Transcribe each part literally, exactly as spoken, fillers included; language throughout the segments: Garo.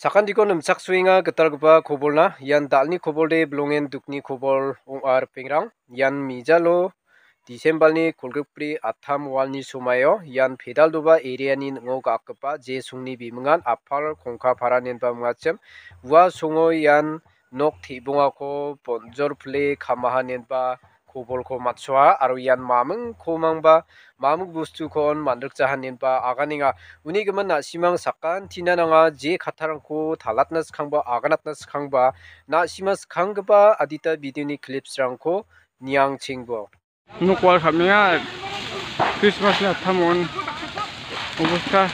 Sakantiko nimchaksoenga gitalgipa kobolna. Ian dal·ni kobolde bilongen dukni kobol ong·a ripengrang. Ian mijalo Disembalni kolgrikbri attam walni somaio ian Pedaldoba area-ni ning·o ga·akgipa Jesongni bimingan Apar Kongkapara inenba mingachim. Ua songo ian nok te·bongako bonjol pile kamaha inenba kobolko matsoa aro ian mamingko mangba maming bostuko on man·rikjaha inenba aganenga. Uni gimin na·simang sakantina nanga je kattarangko talatna skangba aganatna skangba na·sima skanggipa adita video-ni clips-rangko niangchengbo. Nok wal ka·menga Christmas-ni attamon obosta.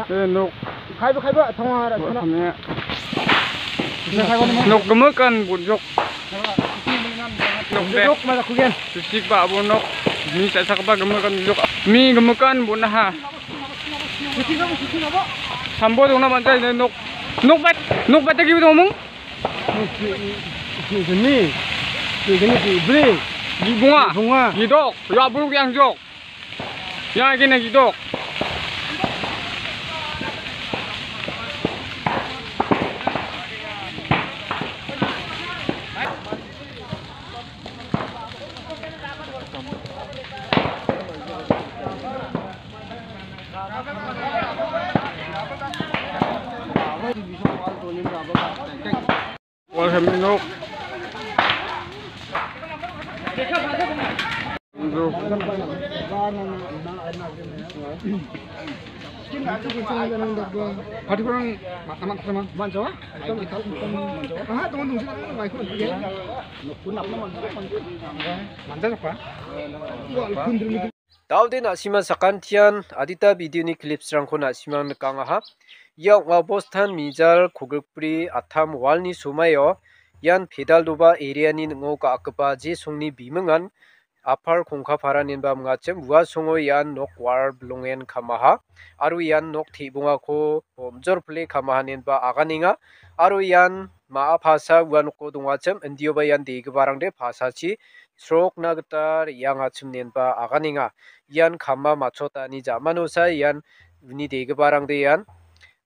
Eh, nok. Kaiba, kaiba, tangwa, ra, wal sana. Ka·menga. Nok gimikan bujok. Nok de. Nok maja kugen. Tusik ba abo nok. Mi sa·sakba gimikan bujok. Mi gimikan bonaha. Sambo dongna man·jai, nok, nok bat, nok bat tagi dong mung? Sini, sini, bri. Bunga. Bunga. Gidok, ya bulu yang jok. Ya gini gidok. Wal kami nok. Pati kurang ma-, amat sama. Manjawa? Aha, teman tungsi, mai kun. Manja apa? Daode na·sima sakantian adita video-ni clips-rangko na·simang nikangaha. Ia ong·a bostan mijal kolgrikbri attam walni somaio ian Pedaldoba area-ni ning·o ga·akgipa Jesongni bimingan Apar Kongkapara inenba mingachim. Ua songo ian nok wal bilongen kamaha aro ian nok te·bongako bonjol pile kamaha inenba aganenga aro ian ma·a pasa ua noko dongachim, indioba ian degiparangde pasachi srokna gita re·angachim inenba aganenga. Ian kama matchotani ja·manosa ian uni degiparangde ian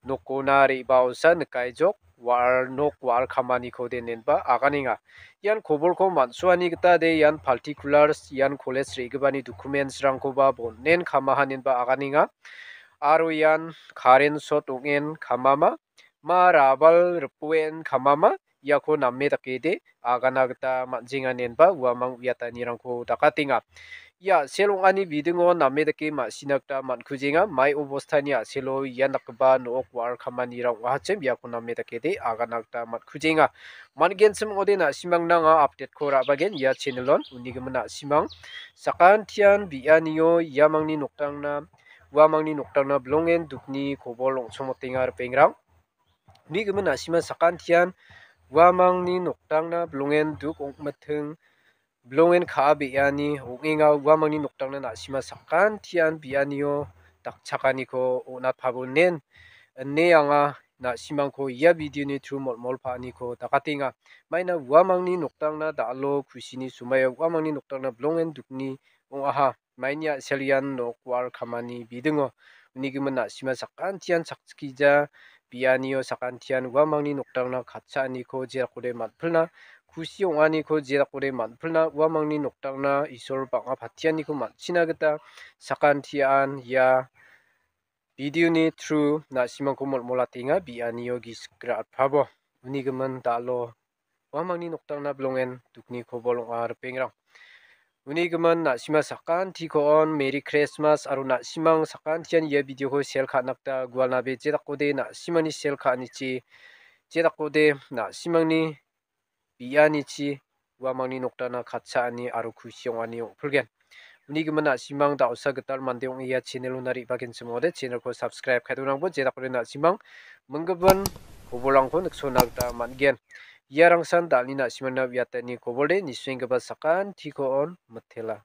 nokona re·baosa nikaijok, wa·al nok wa·al kamaniko de inenba aganenga. Ian kobolko man·suani gita de ian particulars, ian college re·gipani documents-rangkoba bon·en kamaha inenba aganenga. Aro ian current short ong·en kamama, ma rabal ripoen kamama, iako name dake de agana gita man·jenga inenba uamang uiatanirangko dakatenga. Ia a·sel ong·ani bidingo name dake ma·sina gita man·kujenga. Mai obostani a·selo ian dakgipa nok wa·al kamanirang ong·ahachim iako name dake de agana gita man·kujenga. Man·genchim ong·ode na·simangna anga update-ko ra·bagen ia channel-on. Unigimin na·simang sakantian bi·anio iamangni noktangna, uamangni noktangna bilongen dukni kobol ong·somotenga ripengrang. Unigimin na·sima sakantian uamangni noktangna bilongen duk ong·miting, bilongen ka·a be·ani ong·enga. Uamangni noktangna na·sima sakantian bi·anio dakchakaniko on·atpabonen ine anga na·simangko ia video-ni through molmol pa·aniko dakatenga. Maina uamangni noktangna da·alo kusini somaio uamangni noktangna bilongen dukni ong·aha. Maini a·sel ian nok wa·al kamani bidingo. Unigimin na·sima sakantian chakchikija, bi·anio sakantian uamangni noktangna katchaaniko jerakode man·pilna, kusi ong·aniko jerakode man·pilna, uamangni noktangna Isol bang·a patianiko man·china gita sakantian ia video-ni through na·simangko molmolatenga, bi·anio gisik ra·atpabo. Unigimin da·alo uamangni noktangna bilongen dukni kobol ong·a ripengrang. Unigimin na·sima sakantiko on Merry Christmas aro na·simang sakantian ia video-ko share ka·na gita gualnabe jedakode na·simani share ka·anichi jedakode na·simangni bi·anichi uamangni noktangna katchaani aro kusi ong·ani ong·pilgen. Unigimin na·simang da·osa gital mande ong·e ia channel-ona re·bagenchim ong·ode channel-ko subscribe ka·e donangbo jedakode na·simang minggimin kobolrangko niksona gita man·gen. Iarangsan da·alni na·simangna uiatani kobolde nisuenggipa sakantiko on mitela.